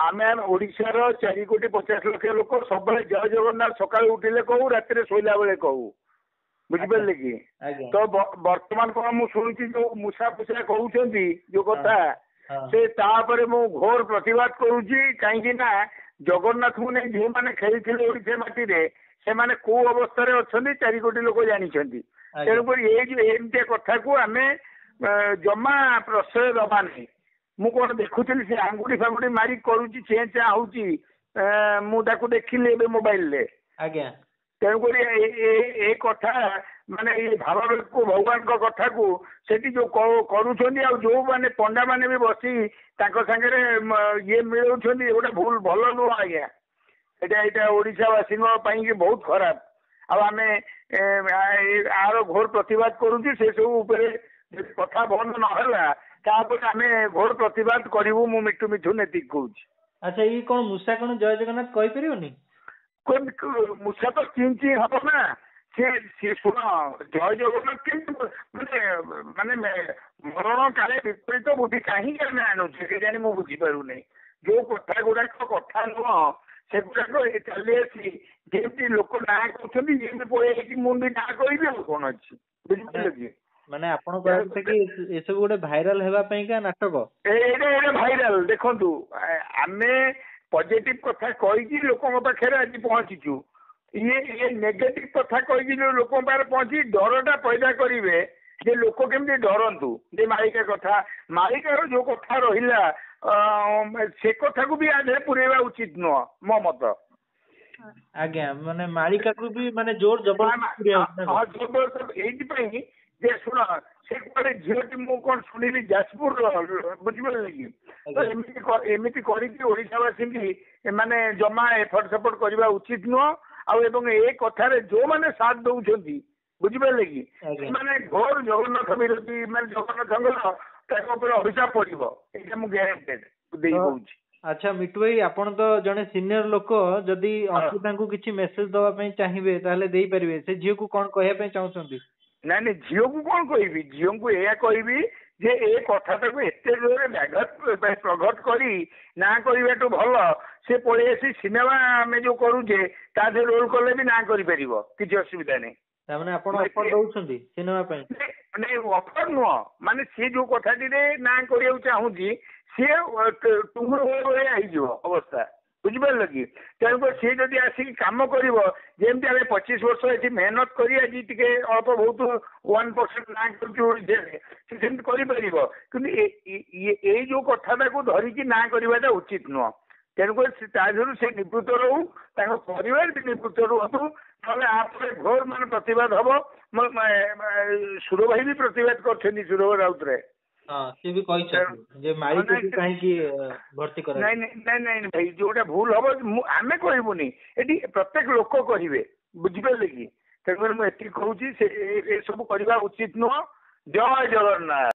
ଆମେ ଓଡ଼ିଶାର 4 କୋଟି 50 ଲକ୍ଷ ଲୋକ ସବୁବେଳେ ଜୟ ଜଗନ୍ନାଥ ସକାଳୁ ଉଠିଲେ କହୁ, ରାତିରେ ଶୋଇଲା ବେଳେ କହୁ, ବୁଝିପାରିଲେ କି? ଆଜ୍ଞା। ତ ବର୍ତ୍ତମାନ କଣ ମୁଁ ଶୁଣୁଛି, ଯୋଉ ମୂଷା ଫୁଷା କହୁଛନ୍ତି ଯୋଉ କଥା, ସେ ତାପରେ ମୁଁ ଘୋର ପ୍ରତିବାଦ କରୁଛି। କାହିଁକି ନା ଜଗନ୍ନାଥଙ୍କୁ ନେଇ ଯେଉଁମାନେ ଖେଳିଥିଲେ ଓଡ଼ିଶା ମାଟିରେ, ସେମାନେ କୋଉ ଅବସ୍ଥାରେ ଅଛନ୍ତି 4 କୋଟି ଲୋକ ଜାଣିଛନ୍ତି। ତେଣୁକରି ଏଇ ଯୋଉ ଏମିତିଆ କଥାକୁ ଆମେ ଜମା ପ୍ରଶ୍ରୟ ଦବା ନାହିଁ। ମୁଁ କଣ ଦେଖୁଥିଲି, ସେ ଆଙ୍ଗୁଠି ଫାଙ୍ଗୁଠି ମାରି କରୁଛି, ଚେଁ ଚାଁ ହଉଛି, ମୁଁ ତାକୁ ଦେଖିଲି ଏବେ ମୋବାଇଲରେ। ତେଣୁକରି ଏ କଥା ମାନେ ଏଇ ଭାବାବେଗକୁ, ଭଗବାନଙ୍କ କଥାକୁ ସେଠି ଯୋଉ କରୁଛନ୍ତି ଆଉ ଯୋଉମାନେ ପଣ୍ଡା ମାନେ ବି ବସି ତାଙ୍କ ସାଙ୍ଗରେ ଇଏ ମିଳଉଛନ୍ତି, ଏଗୁଟା ଭୁଲ, ଭଲ ନୁହଁ ଆଜ୍ଞା। ଏଇଟା ଓଡ଼ିଶାବାସୀଙ୍କ ପାଇଁକି ବହୁତ ଖରାପ। ଆଉ ଆମେ ଆର ଘୋର ପ୍ରତିବାଦ କରୁଛୁ। ସେସବୁ ଉପରେ ଯଦି କଥା ବନ୍ଦ ନହେଲା, ତାପରେ ଆମେ ଘୋର ପ୍ରତିବାଦ କରିବୁ। ମୁଁ ମିଟୁ ମିଥୁନ ଏତିକି କହୁଛି। ଆଚ୍ଛା, ଇଏ କଣ ମୂଷା କଣ ଜୟ ଜଗନ୍ନାଥ କହିପାରିବନି? ମୂଷା ତ ଚିଁ ଚିଁ ହବ ନା ସିଏ। ଶୁଣ, ଜୟ ଜଗନ୍ନାଥ କେମିତି ମାନେ ମରଣ କାଳେ ବିପରୀତ ବୁଦ୍ଧି କାହିଁକି ଆମେ ଆଣୁଛେ କେଜାଣି, ମୁଁ ବୁଝିପାରୁନି। ଯୋଉ କଥା ଗୁଡାକ କଥା ନୁହଁ, ସେଗୁଡାକ ଚାଲି ଆସି ଯେମିତି ଲୋକ ନାଁ କହୁଛନ୍ତି, ଯେମିତି ପଳେଇ ଆସିକି ମୁଁ ବି ନାଁ କହିବି, ଆଉ କଣ ଅଛି, ବୁଝିପାରିଲେ କି? ମାନେ ଆପଣ କହିବା କଥା କି ଏସବୁ ଗୋଟେ ଭାଇରାଲ ହେବା ପାଇଁକା ନାଟକ? ଏଇଟା ଭାଇରାଲ। ଦେଖନ୍ତୁ, ଆମେ ପଜିଟିଭ କଥା କହିକି ଲୋକଙ୍କ ପାଖରେ ଆଜି ପହଞ୍ଚିଛୁ। ଇଏ ନେଗେଟିଭ କଥା କହିକି ଯୋଉ ଲୋକଙ୍କ ପାଖରେ ପହଞ୍ଚି ଡରଟା ପଇଦା କରିବେ ଯେ ଲୋକ କେମିତି ଡରନ୍ତୁ ଯେ ମାଳିକା କଥା, ମାଳିକାର ଯୋଉ କଥା ରହିଲା, ସେ କଥାକୁ ବି ଆ ଦେହରେ ପୁରେଇବା ଉଚିତ ନୁହଁ, ମୋ ମତ। ଆଜ୍ଞା, ମାନେ ମାଳିକାକୁ ବି ମାନେ ଜୋର ଜବରଦସ୍ତ ପୁରେଇବା ହଉଛି ନା କଣ? ହଁ, ଜବରଦସ୍ତ। ଏଇଥିପାଇଁ ଯେ ଶୁଣ, ସେ କୁଆଡେ ଝିଅଟି, ମୁଁ କଣ ଶୁଣିଲି ଯାଜପୁରର, ବୁଝିପାରିଲେ କି? ତ ଏମିତି କରିକି ଓଡ଼ିଶାବାସୀଙ୍କି ଏମାନେ ଜମା ଏପଟ ସେପଟ କରିବା ଉଚିତ ନୁହଁ। ଆଉ ଏବଂ ଏ କଥାରେ ଯୋଉମାନେ ସାଥ ଦଉଛନ୍ତି, ବୁଝିପାରିଲେ କି, ସେମାନେ ଘୋର ଜଗନ୍ନାଥ ବିରୋଧୀ, ମାନେ ଜଗନ୍ନାଥଙ୍କର ତାଙ୍କ ଉପରେ ଅଭିଶାପ ପଡିବ, ଏଇଟା ମୁଁ ଗ୍ୟାରେଣ୍ଟେଡ ଦେଇ କହୁଛି। ଆଚ୍ଛା ମିଟୁ ଭାଇ, ଆପଣ ତ ଜଣେ ସିନିୟର ଲୋକ, ଯଦି ଅଙ୍କିତାଙ୍କୁ କିଛି ମେସେଜ ଦବା ପାଇଁ ଚାହିଁବେ ତାହେଲେ ଦେଇପାରିବେ। ସେ ଝିଅକୁ କଣ କହିବା ପାଇଁ ଚାହୁଁଛନ୍ତି? ନାଇଁ, ଝିଅକୁ କଣ କହିବି? ଝିଅଙ୍କୁ ଏଇଆ କହିବି ଯେ ଏ କଥାଟାକୁ ଏତେ ଜୋରରେ ବ୍ୟାଘାତ ପ୍ରଘଟ କରି ନାଁ କରିବାଠୁ ଭଲ ସେ ପଳେଇ ଆସି ସିନେମା ଆମେ ଯୋଉ କରୁଛେ ତା ଦେହରେ ରୋଲ କଲେ ବି ନାଁ କରିପାରିବ, କିଛି ଅସୁବିଧା ନାହିଁ। ତାମାନେ ଆପଣ ଅଫର ଦଉଛନ୍ତି ସିନେମା ପାଇଁ? ନାଇଁ, ଅଫର ନୁହଁ, ମାନେ ସିଏ ଯୋଉ କଥାଟିରେ ନାଁ କରିବାକୁ ଚାହୁଁଛି, ସିଏ ଟୁଙ୍ଗୁର ଭଳିଆ ହେଇଯିବ ଅବସ୍ଥା, ବୁଝିପାରିଲ କି? ତେଣୁକରି ସିଏ ଯଦି ଆସିକି କାମ କରିବ, ଯେମିତି ଆମେ 25 ବର୍ଷ ଏଠି ମେହନତ କରି ଆଜି ଟିକେ ଅଳ୍ପ ବହୁତ 1% ନାଁ କରୁଛୁ ଓଡ଼ିଶାରେ, ସେ ସେମିତି କରିପାରିବ। କିନ୍ତୁ ଏଇ ଯୋଉ କଥାଟାକୁ ଧରିକି ନାଁ କରିବାଟା ଉଚିତ ନୁହଁ। ତେଣୁକରି ସେ ତା ଦେହରୁ ସେ ନିବୃତ୍ତ ରହୁ, ତାଙ୍କ ପରିବାର ବି ନିବୃତ୍ତ ରୁହନ୍ତୁ, ନହେଲେ ଆ ପରେ ଘୋର ମାନେ ପ୍ରତିବାଦ ହବ। ସୁର ଭାଇ ବି ପ୍ରତିବାଦ କରିଛନ୍ତି, ସୁର ରାଉତରାୟ। ହଁ, ସିଏ ବି କହିଛନ୍ତି ଯେ ମାଳିକାକୁ କାହିଁକି ଭର୍ତ୍ତି କରାଯିବ। ନାଇଁ ଭାଇ, ଯୋଉଟା ଭୁଲ ହବ ମୁଁ ଆମେ କହିବୁନି, ଏଠି ପ୍ରତ୍ୟେକ ଲୋକ କହିବେ, ବୁଝିପାରିଲେ କି? ତେଣୁକରି ମୁଁ ଏତିକି କହୁଛି, ସେ ଏସବୁ କରିବା ଉଚିତ ନୁହଁ। ଜୟ ଜଗନ୍ନାଥ।